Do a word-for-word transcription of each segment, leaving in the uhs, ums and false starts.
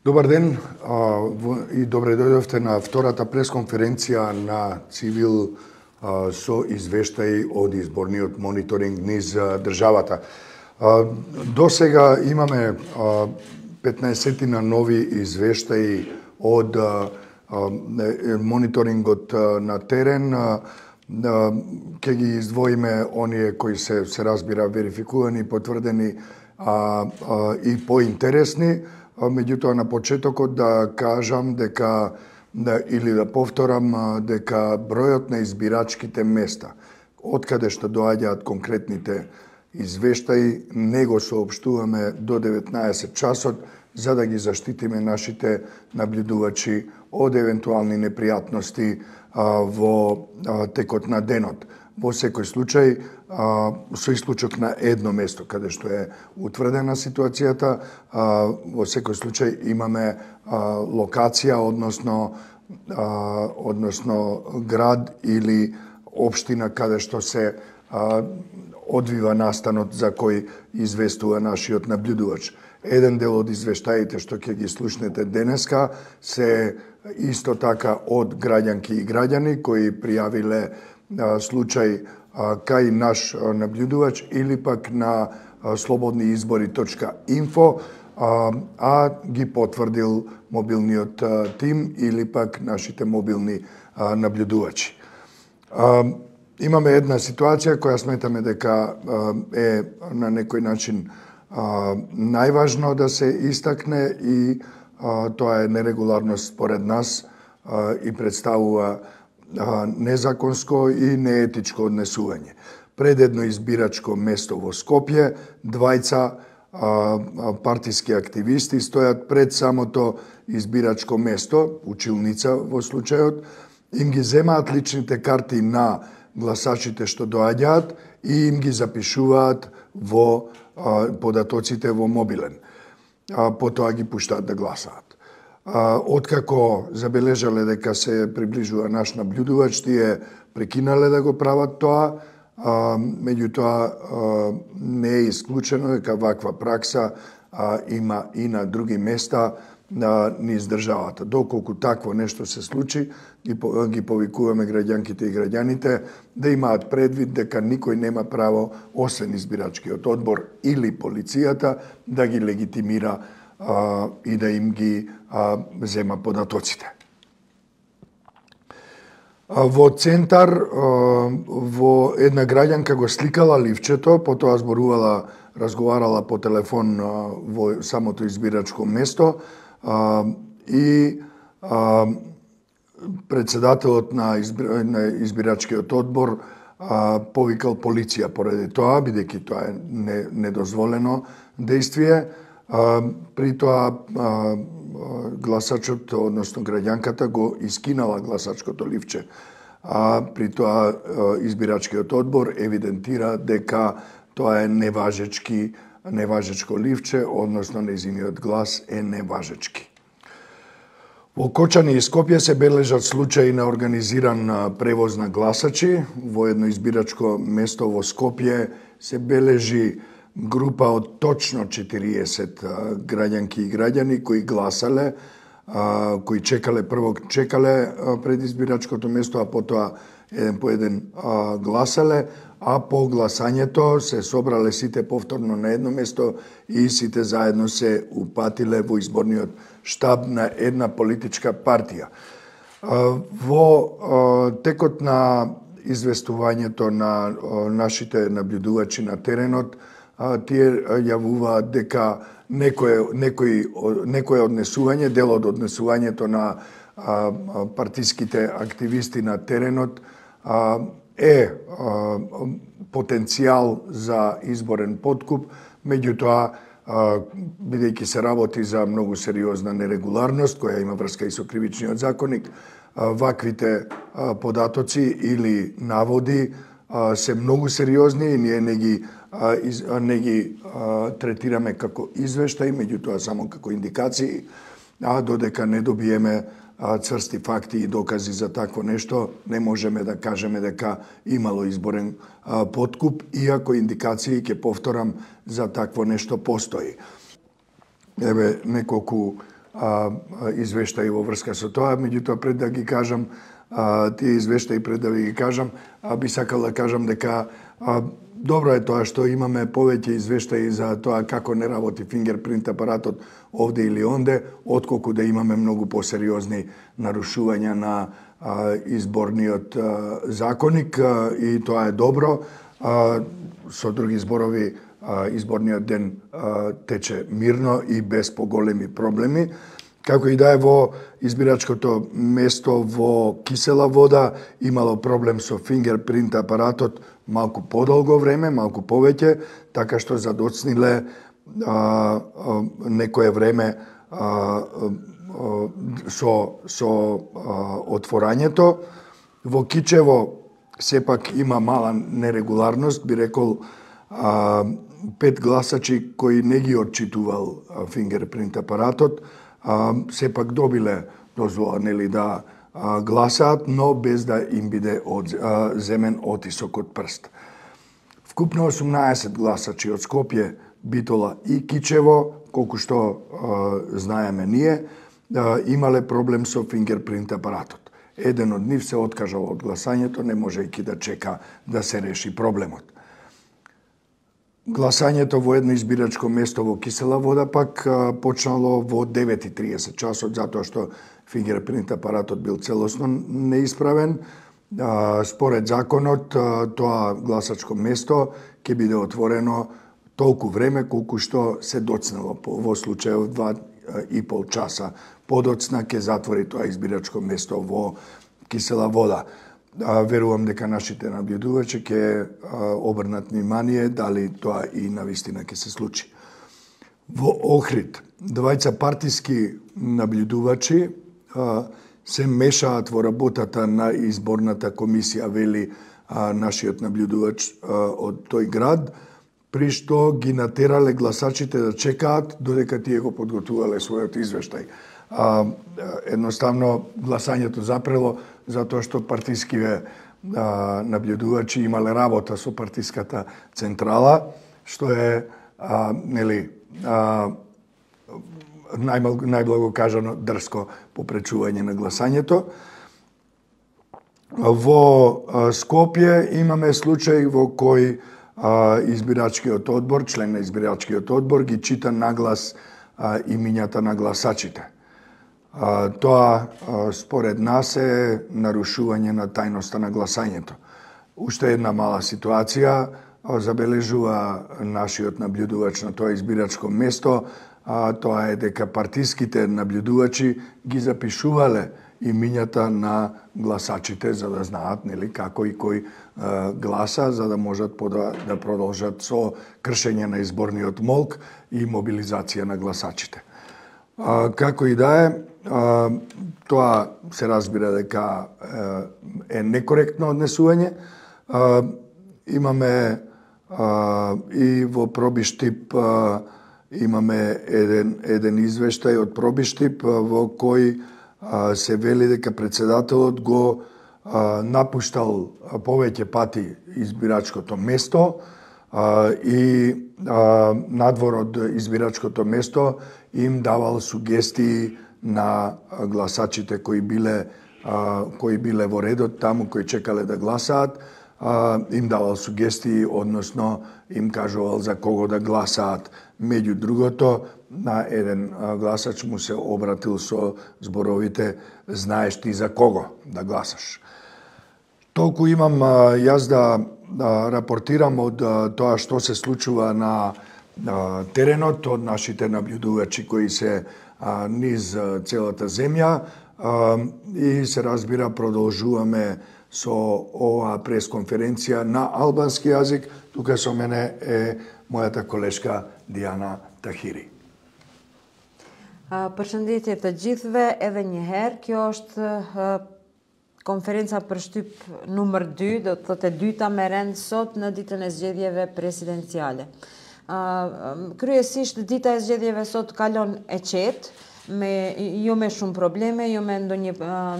Добар ден и добре дојдовте на втората пресконференција на Цивил со извештаи од изборниот мониторинг низ државата. До сега имаме петнаесеттина нови извештаи од мониторингот на терен. Ќе ги издвоиме оние кои се, се разбира, верификувани, потврдени а, а, и поинтересни. Меѓутоа, на почетокот да кажам дека, да, или да повторам, дека бројот на избирачките места, откаде што доаѓаат конкретните извештаи, не го соопштуваме до деветнаесет часот, за да ги заштитиме нашите наблюдувачи од евентуални непријатности а, во а, текот на денот. Во секој случај, а, со исклучок на едно место каде што е утврдена ситуацијата, а, во секој случај имаме а, локација, односно а, односно град или општина каде што се а, одвива настанот за кој известува нашиот наблюдувач. Еден дел од извештаите што ќе ги слушнете денеска се исто така од граѓанки и граѓани кои пријавиле случај кај наш наблюдувач или пак на слободни избори точка инфо, а ги потврдил мобилниот тим или пак нашите мобилни наблюдувачи. Имаме една ситуација која сметаме дека е на некој начин најважно да се истакне и тоа е нерегуларност според нас и представува незаконско и неетичко однесување. Пред едно избирачко место во Скопје, двајца партиски активисти стојат пред самото избирачко место, училница во случајот, им ги земаат личните карти на гласачите што доаѓаат и им ги запишуваат во податоците во мобилен. Потоа ги пуштаат да гласаат. Откако забележале дека се приближува наш наблюдувач, тие прекинале да го прават тоа, меѓутоа не е исклучено дека ваква пракса има и на други места низ државата. Доколку такво нешто се случи, ги повикуваме граѓанките и граѓаните да имаат предвид дека никој нема право, освен избирачкиот одбор или полицијата, да ги легитимира а, и да им ги а, зема податоците. А, во центар, а, во една граѓанка го сликала ливчето, потоа зборувала, разговарала по телефон а, во самото избирачко место а, и а, председателот на, избир... на избирачкиот одбор а, повикал полиција поради тоа, бидејќи тоа е недозволено действие. А, при тоа а, гласачот, односно граѓанката, го искинала гласачкото ливче. А при тоа а, избирачкиот одбор евидентира дека тоа е неважечки, неважечко ливче, односно нејзиниот глас е неважечки. Во Кочани и Скопје се бележат случаи на организиран превоз на гласачи. Во едно избирачко место во Скопје се бележи група од точно четириесет граѓанки и граѓани кои гласале, кои чекале, прво чекале пред избирачкото место, а потоа еден по еден гласале, а по гласањето се собрале сите повторно на едно место и сите заедно се упатиле во изборниот штаб на една политичка партија. Во текот на известувањето на нашите наблюдувачи на теренот, тие јавуваат дека некој, некој, некој однесување, дел од однесувањето на партиските активисти на теренот е потенцијал за изборен подкуп, меѓутоа, бидејќи се работи за многу сериозна нерегуларност, која има врска и со кривичниот законник, ваквите податоци или наводи се многу сериозни и ние не ги, не ги третираме како извештаи, меѓутоа само како индикации, а додека не добиеме црсти факти и докази за такво нешто, не можеме да кажеме дека имало изборен подкуп, иако индикации, ќе повторам, за такво нешто постои. Еве неколку извештаи во врска со тоа, меѓутоа пред да ги кажам тие извештаи, пред да ви ги кажам, би сакал да кажам дека добро е тоа што имаме повеќе извештаи за тоа како не работи фингерпринт апаратот овде или онде, отколку да имаме многу посериозни нарушувања на изборниот законник, и тоа е добро. Со други зборови, изборниот ден тече мирно и без поголеми проблеми. Како и да е, во избирачкото место во Кисела Вода имало проблем со фингерпринт апаратот малку подолго време, малку повеќе, така што задоцниле а, а, некое време а, а, со, со а, отворањето. Во Кичево сепак има мала нерегуларност, би рекол, а, пет гласачи кои не ги отчитувал фингерпринт апаратот, а, сепак добиле дозвола, нели, да а, гласаат, но без да им биде од, а, земен отисок од прст. Вкупно осумнаесет гласачи од Скопје, Битола и Кичево, колку што а, знаеме ние, а, имале проблем со фингерпринт апаратот. Еден од нив се откажал од гласањето, не можејќи да чека да се реши проблемот. Гласањето во едно избирачко место во Кисела Вода пак почнало во девет и триесет часот, затоа што фингерпринт апаратот бил целосно неисправен. Според законот, тоа гласачко место ќе биде отворено толку време колку што се доцнело. Во случајот два и пол часа подоцна ќе затвори тоа избирачко место во Кисела Вода. Верувам дека нашите наблюдувачи ќе обрнат внимание дали тоа и навистина ќе се случи. Во Охрид, двајца партиски наблюдувачи се мешаат во работата на изборната комисија, вели нашиот наблюдувач од тој град, при што ги натерале гласачите да чекаат додека тие го подготувале својот извештај. Едноставно гласањето запрело затоа што партискиве а, наблюдувачи имале работа со партиската централа, што е а, нели а, најблаго кажано дрско попречување на гласањето. Во а, Скопје имаме случај во кој а, избирачкиот одбор, член на избирачкиот одбор ги чита наглас а, имињата на гласачите. А, тоа, а, според нас, е нарушување на тајноста на гласањето. Уште една мала ситуација а, забележува нашиот наблюдувач на тоа избирачко место, а, тоа е дека партиските наблюдувачи ги запишувале имињата на гласачите за да знаат, нели, како и кој а, гласа, за да можат пода, да продолжат со кршење на изборниот молк и мобилизација на гласачите. А, како и да е, а, тоа се разбира дека е некоректно однесување. А, имаме а, и во Пробиштип а, имаме еден, еден извештај од Пробиштип а, во кој а, се вели дека председателот го а, напуштал повеќе пати избирачкото место а, и а, надвор од избирачкото место им давал сугестии на гласачите кои биле кои биле во редот таму, кои чекале да гласаат, им давал сугестии, односно им кажувал за кого да гласаат. Меѓу другото, на еден гласач му се обратил со зборовите "Знаеш ти за кого да гласаш?" Толку имам јас да рапортирам од тоа што се случува на теренот, од нашите наблюдувачи кои се низ целата земја, и се разбира продолжуваме со оваа пресконференција на албански јазик. Тука со мене е мојата колешка Диана Тахири. Përshëndetje të gjithëve edhe një herë. Kjo është konferenca për shtyp numër dy, do të thotë e dyta me rend sot në ditën e zgjedhjeve presidenciale. Kryesisht dita e zgjedhjeve sot kalon e qetë, me jo me shumë probleme, jo me ndonjë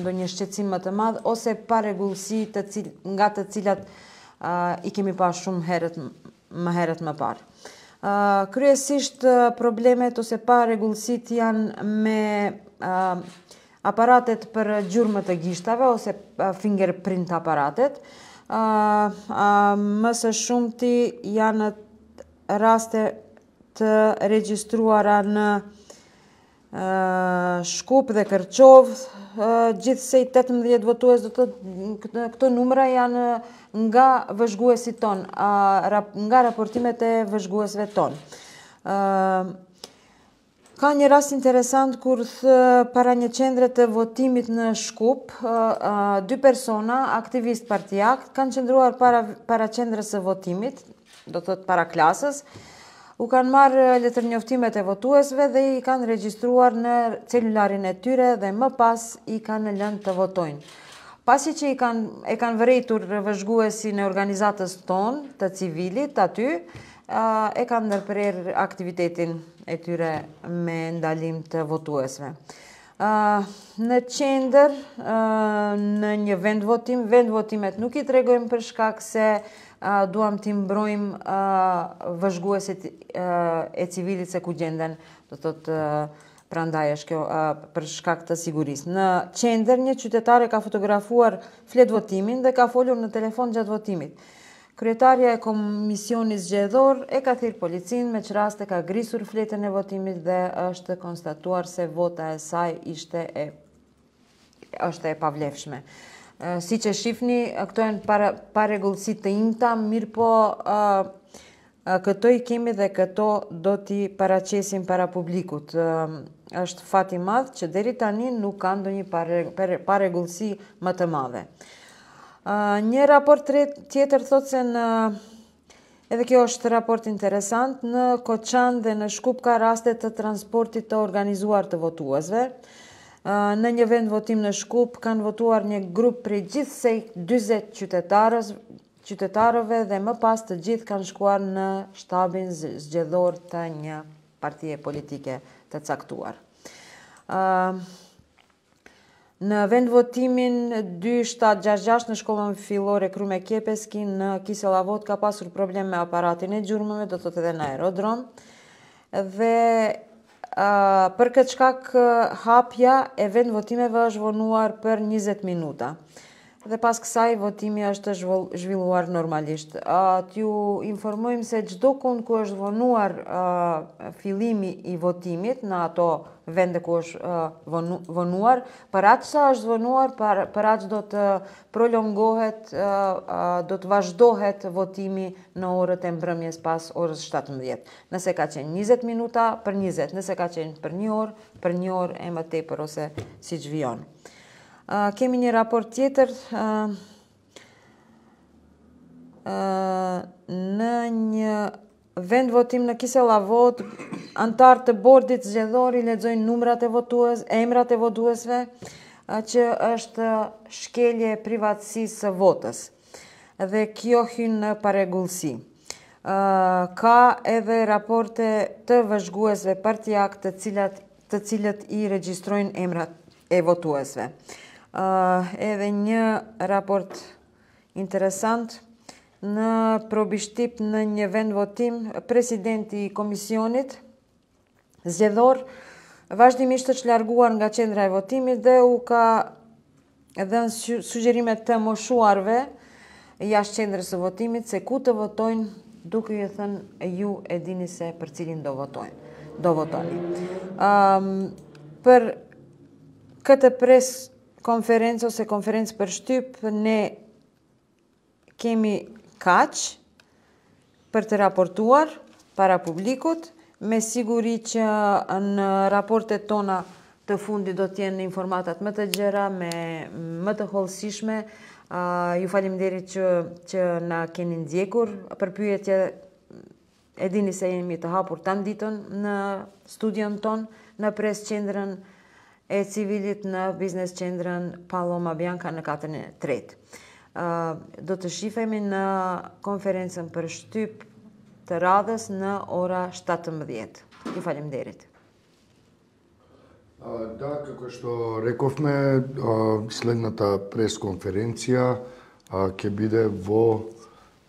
ndonjë shqetësim më të madh ose pa rregullsi të cil, nga të cilat uh, i kemi pa shumë herët më herët më parë. Kryesisht problemet ose parregullësit janë me aparatet për gjurmë të gishtave ose fingerprint aparatet. Më së shumti janë raste të regjistruara në Shkup dhe Kërçov, gjithsej tetëmbëdhjetë votues, do të thotë këto numra janë nga vëzhguesit ton, nga raportimet e vëzhguesve ton. Ka një rast interesant kur para një qendre të votimit në Shkup, dy persona, aktivist partijak, kanë qëndruar para, para qendrës së votimit, do të thotë para klasës, u kanë marrë letër njoftimet e votuesve dhe i kanë regjistruar në celularin e tyre dhe më pas i kanë lënë të votojnë. Pasi që i kanë, e kanë vërejtur vëzhguesin e organizatës tonë të civilit aty, e kanë ndërprerë aktivitetin e tyre me ndalim të votuesve. Në qendër, në një vend votim, vend votimet nuk i tregojmë për shkak se duam t'i mbrojmë vëzhguesit e civilit se ku gjenden, do të thotë prandaj është kjo për shkak të sigurisë. Në qendër një qytetare ka fotografuar flet votimin dhe ka folur në telefon gjatë votimit. Kryetarja e komisionit zgjedhor e ka thirrë policin, me që rast e ka grisur fletën e votimit dhe është konstatuar se vota e saj ishte e është e pavlefshme. Si që shifni, këto janë parregullësi të imta, mirë po këto i kemi dhe këto do t'i paraqesim para publikut. Është fat i madh që deri tani nuk ka ndonjë parregullësi më të madhe. Një raport tjetër thotë se në, edhe kjo është raport interesant, në Koçan dhe në Shkup ka raste të transportit të organizuar të votuesve. Në një vend votim në Shkup kanë votuar një grup prej gjithsej dyzet qytetarës, qytetarëve dhe më pas të gjithë kanë shkuar në shtabin zgjedhor të një partije politike të caktuar. Në vend votimin dy shtatë gjashtëdhjetë e gjashtë në shkollën fillore Krume Kjepeski në Kiselavot ka pasur problem me aparatin e gjurmëve, do të thotë edhe në aerodrom. Dhe uh, për këtë shkak hapja e vend votimeve është vonuar për njëzet minuta. Dhe pas kësaj votimi është zhvilluar normalisht. Uh, T'ju informojmë se çdo kund ku është vonuar uh, fillimi i votimit në ato vende ku është uh, vonu, vonuar, për atë sa është vonuar, për, për atë do të prolongohet, uh, uh, do të vazhdohet votimi në orët e mbrëmjes pas orës shtatëmbëdhjetë. Nëse ka qenë njëzet minuta, për njëzet, nëse ka qenë për një orë, për një orë e më tepër ose siç vijon. Uh, kemi një raport tjetër uh, uh, në një vend votim në Kiselavot, antarë të bordit zgjedhor i lexojnë numrat e votues, emrat e votuesve, uh, që është shkelje e privatësisë së votës. Dhe kjo hyn në parregullsi. Uh, ka edhe raporte të vëzhguesve partijak të cilat të cilët i regjistrojnë emrat e votuesve. Uh, edhe një raport interesant në probishtip në një vend votim, presidenti i komisionit zgjedhor vazhdimisht është larguar nga qendra e votimit dhe u ka dhënë sugjerime të moshuarve jashtë qendrës së votimit se ku të votojnë, duke i thënë ju e dini se për cilin do votojnë, do votoni. Um, për këtë pres konferencë ose konferencë për shtyp, ne kemi kaq për të raportuar para publikut, me siguri që në raportet tona të fundit do t'jenë informatat më të gjera, me më të hollësishme. Uh, ju faleminderit që, që na keni ndjekur për pyetje, e dini se jemi të hapur tan ditën në studion ton, në pres qendrën e civilit, në biznes qendrën Paloma Bianca në katërën e tretë. Uh, do të shifemi në konferencën për shtyp të radhës në ora shtatëmbëdhjetë. Ju faleminderit. Да, како што рековме, следната пресконференција ќе биде во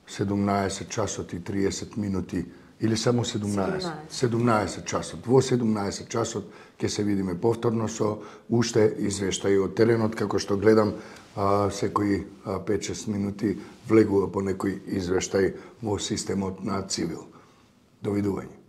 седумнаесет часот и триесет минути Или само седумнаесет? седумнаесет часот. Во седумнаесет часот ќе се видиме повторно со уште извештаи од теренот, како што гледам а, секои пет-шест минути влегува по некој извештај во системот на Цивил. Довидување.